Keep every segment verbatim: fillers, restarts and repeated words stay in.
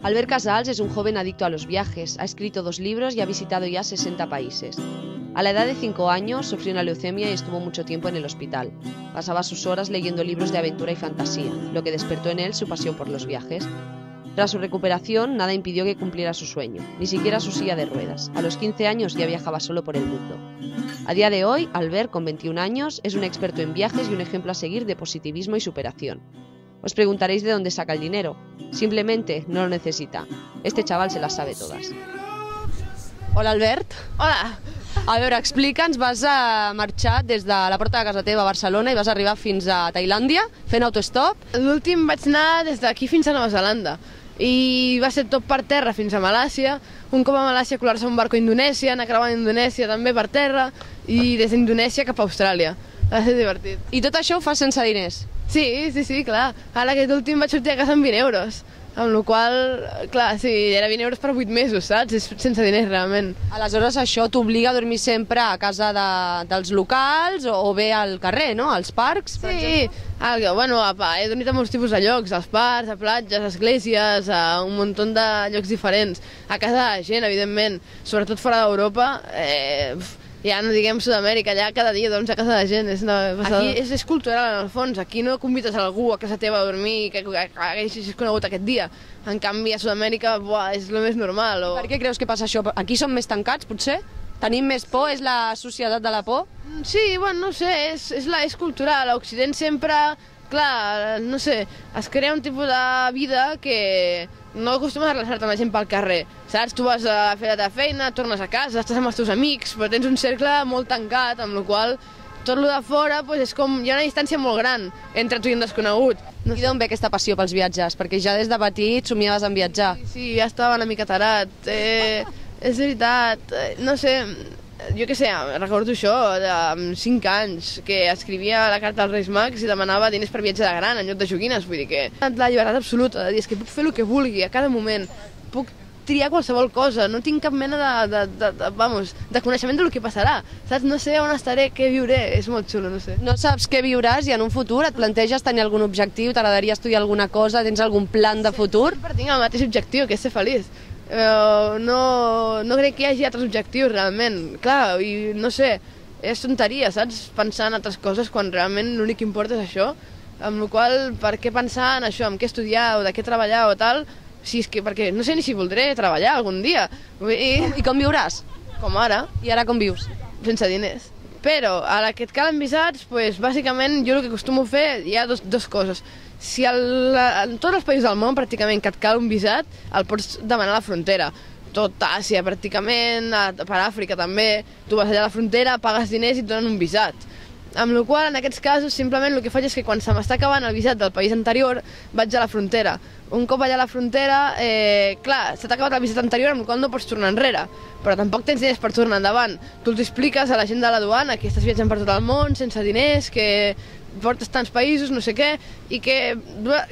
Albert Casals es un joven adicto a los viajes, ha escrito dos libros y ha visitado ya sesenta países. A la edad de cinco años sufrió una leucemia y estuvo mucho tiempo en el hospital. Pasaba sus horas leyendo libros de aventura y fantasía, lo que despertó en él su pasión por los viajes. Tras su recuperación, nada impidió que cumpliera su sueño, ni siquiera su silla de ruedas. A los quince años ya viajaba solo por el mundo. A día de hoy, Albert, con veintiún años, es un experto en viajes y un ejemplo a seguir de positivismo y superación. Os preguntaréis de dónde saca el dinero. Simplemente no lo necesita. Este chaval se las sabe todas. Hola, Albert. Hola. A veure, explica'ns, vas a marxar des de la porta de casa teva a Barcelona i vas arribar fins a Tailàndia fent autostop. L'últim vaig anar des d'aquí fins a Nova Zelanda i va ser tot per terra fins a Malàisia. Un cop a Malàisia colar-se un barco a Indonèsia, anar creuant Indonèsia també per terra i des d'Indonèsia cap a Austràlia. Va ser divertit. I tot això ho fas sense diners? Sí, sí, sí, clar. Ara aquest últim vaig sortir a casa amb vint euros. Amb la qual cosa, clar, sí, era vint euros per vuit mesos, saps? És sense diners, realment. Aleshores, això t'obliga a dormir sempre a casa de, dels locals o, o bé al carrer, no? Als parcs, per sí, el, bueno, apa, he dormit a molts tipus de llocs, als parcs, a platges, a esglésies, a un munt de llocs diferents. A casa de gent, evidentment, sobretot fora d'Europa, eh, ja no diguem Sud-amèrica, allà cada dia dorms a casa de gent. És una passada. Aquí és, és cultural, en el fons. Aquí no convides a algú a casa teva a dormir que, que, que hagis conegut aquest dia. En canvi, a Sud-amèrica, buah, és el més normal. O... Per què creus que passa això? Aquí som més tancats, potser? Tenim més por? És la societat de la por? Sí, bueno, no sé, és, és, la, és cultural. A Occident sempre, clar, no sé, es crea un tipus de vida que no acostumes a relacionar-te amb la gent pel carrer, saps? Tu vas a fer la teva feina, tornes a casa, estàs amb els teus amics, però tens un cercle molt tancat, amb la qual tot el de fora pues, és com, hi ha una distància molt gran entre tu i un desconegut. No I d'on ve aquesta passió pels viatges? Perquè ja des de petit somiaves en viatjar. Sí, sí, ja estava una mica tarat. Eh, és veritat, eh, no sé, jo què sé, recordo això, de cinc anys, que escrivia la carta als Reis Mags i demanava diners per viatge de gran en lloc de joguines, vull dir que... La llibertat absoluta, de dir, és que puc fer el que vulgui a cada moment, puc triar qualsevol cosa, no tinc cap mena de, de, de, de, vamos, de coneixement del que passarà, saps? No sé on estaré, què viuré, és molt xulo, no sé. No saps què viuràs i en un futur et planteges tenir algun objectiu, t'agradaria estudiar alguna cosa, tens algun plan de futur? Sempre tinc el mateix objectiu, que és ser feliç. Uh, no, no crec que hi hagi altres objectius, realment. Clar, i no sé, és tonteria, saps? Pensar en altres coses quan realment l'únic que importa és això. Amb la qual cosa, per què pensar en això, en què estudiar o de què treballar o tal, si és que, perquè no sé ni si voldré treballar algun dia. I, I com viuràs? Com ara. I ara com vius? Sense diners. Però, ara que et calen visats, pues, bàsicament jo el que acostumo a fer hi ha dos, dos coses. Si el, en tots els països del món pràcticament que et cal un visat, el pots demanar a la frontera. Tot Àsia pràcticament, a, per Àfrica també, tu vas allà a la frontera, pagues diners i et donen un visat. Amb la qual cosa, en aquests casos, simplement el que faig és que quan se m'està acabant el visat del país anterior, vaig a la frontera. Un cop allà a la frontera, eh, clar, se t'ha acabat el visat anterior, amb la qual cosa no pots tornar enrere, però tampoc tens diners per tornar endavant. Tu els expliques a la gent de la duana que estàs viatjant per tot el món, sense diners, que portes tants països, no sé què, i que,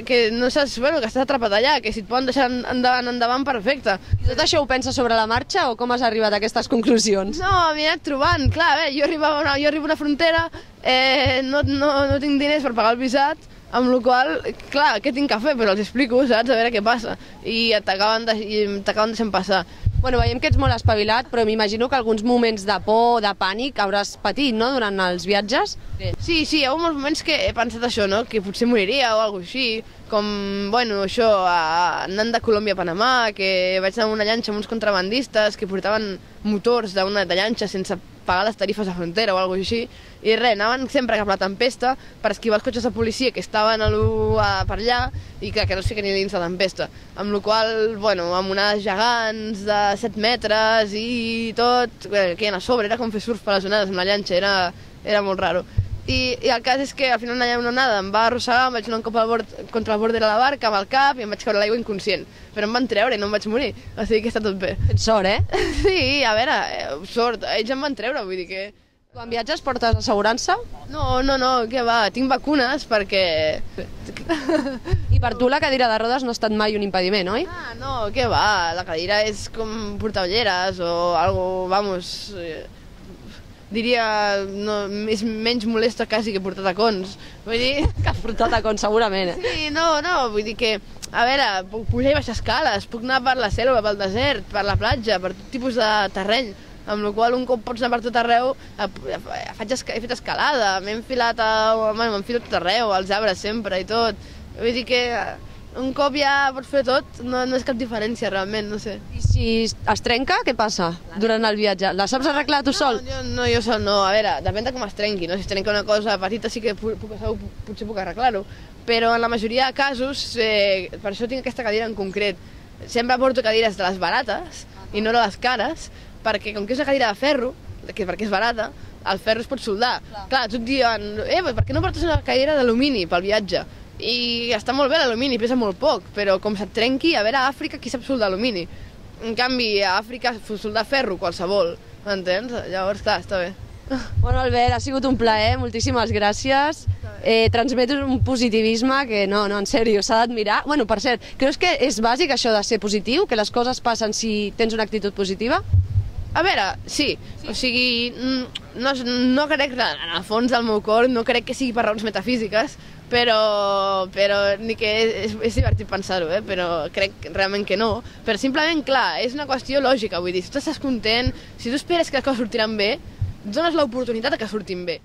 que no saps, bueno, que estàs atrapat allà, que si et poden deixar endavant, endavant, perfecte. I tot això ho penses sobre la marxa o com has arribat a aquestes conclusions? No, m'he anat trobant, clar, bé, jo, arribava una, jo arribo a una frontera, eh, no, no, no tinc diners per pagar el visat, amb la qual cosa, clar, què tinc que fer? Però els explico, saps? A veure què passa. I t'acaben deixant passar. Bueno, veiem que ets molt espavilat, però m'imagino que alguns moments de por, de pànic, hauràs patit, no?, durant els viatges? Sí, sí, hi ha molts moments que he pensat això, no?, que potser moriria o alguna cosa així, com, bueno, això, anant de Colòmbia a Panamà, que vaig anar amb una llanxa amb uns contrabandistes que portaven motors d'una de llanxa sense pagar les tarifes de frontera o alguna cosa així, i res, anaven sempre cap a la tempesta per esquivar els cotxes de policia que estaven a a, per allà i que, que no es fiquen ni dins la tempesta. Amb la qual cosa, bueno, amb onades gegants de set metres i tot, que hi ha a sobre, era com fer surf per les onades amb la llanxa, era, era molt raro. I, I el cas és que al final allà una onada em va arrossegar, em vaig anar un cop al bord, contra el bord de la barca amb el cap i em vaig caure a l'aigua inconscient. Però em van treure i no em vaig morir, o sigui que està tot bé. Tens sort, eh? Sí, a veure, sort, ells em van treure, vull dir que... Quan viatges portes assegurança? No, no, no, què va, tinc vacunes perquè... I per tu la cadira de rodes no ha estat mai un impediment, oi? Ah, no, què va, la cadira és com portar ulleres o algo, vamos, eh, diria, no, és menys molesta quasi que portar tacons, vull dir... Que has portat tacons, segurament, eh? Sí, no, no, vull dir que, a veure, puc pujar i baixar escales, puc anar per la selva, pel desert, per la platja, per tot tipus de terreny, amb la qual un cop pots anar per tot arreu, faig esca he fet escalada, m'he enfilat, m'enfilo tot arreu, als arbres sempre i tot. Vull dir que un cop ja pots fer tot, no, no és cap diferència realment, no sé. I si es trenca, què passa durant el viatge? La saps arreglar tu sol? No, jo, no, jo sol no, a veure, depèn de com es trenqui, no? Si es trenca una cosa petita sí que puc, puc, potser puc arreglar-ho, però en la majoria de casos, eh, per això tinc aquesta cadira en concret. Sempre porto cadires de les barates i no de les cares, perquè com que és una cadira de ferro, que perquè és barata, el ferro es pot soldar. Clar, Clar tu et diuen, eh, per què no portes una cadira d'alumini pel viatge? I està molt bé l'alumini, pesa molt poc, però com se't trenqui, a veure, a Àfrica qui sap soldar alumini? En canvi, a Àfrica soldar ferro, qualsevol, m'entens? Llavors, clar, està bé. Bueno, Albert, ha sigut un plaer, moltíssimes gràcies. Eh, transmetes un positivisme que no, no, en sèrio, s'ha d'admirar. Bueno, per cert, creus que és bàsic això de ser positiu, que les coses passen si tens una actitud positiva? A veure, sí, sí. O sigui, no, no crec, en el fons del meu cor, no crec que sigui per raons metafísiques, però, però ni que és, és divertit pensar-ho, eh? Però crec realment que no. Però simplement, clar, és una qüestió lògica, vull dir, si tu estàs content, si tu esperes que les coses sortiran bé, dones l'oportunitat que surtin bé.